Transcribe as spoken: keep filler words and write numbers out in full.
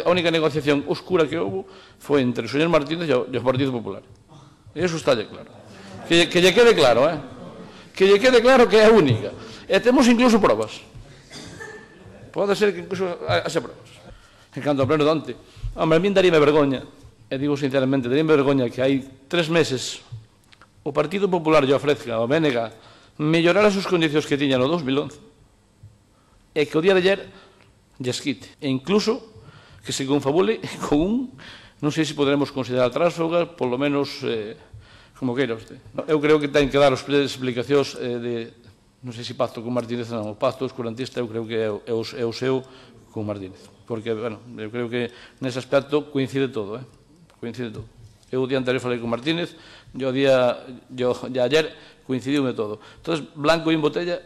a única negociación oscura que houve foi entre o señor Martínez e o, e o Partido Popular. E iso está claro. Que, que lle quede claro, eh? Que lle quede claro que é a única. E temos incluso probas. Pode ser que incluso haxe probas. En canto ao pleno de onte, hombre, a min daríame vergoña, e digo sinceramente, daríame vergoña que hai tres meses o Partido Popular lle ofrezca ao B N G mellorar as súas condicións que tiña no dos mil once e que o día de ayer lles quite. E incluso que se confabule con un, non sei se poderemos considerar tránsfuga, polo menos, eh, como queira usted. Eu creo que ten que dar as explicacións eh, de, non sei se pacto con Martínez ou non, o pacto oscurantista eu creo que é o, é o, é o seu con Martínez. Porque, bueno, eu creo que nese aspecto coincide todo, eh? Coincide todo. Eu o día anterior falei con Martínez, e o día, e ayer coincidiume todo. Entón, blanco en botella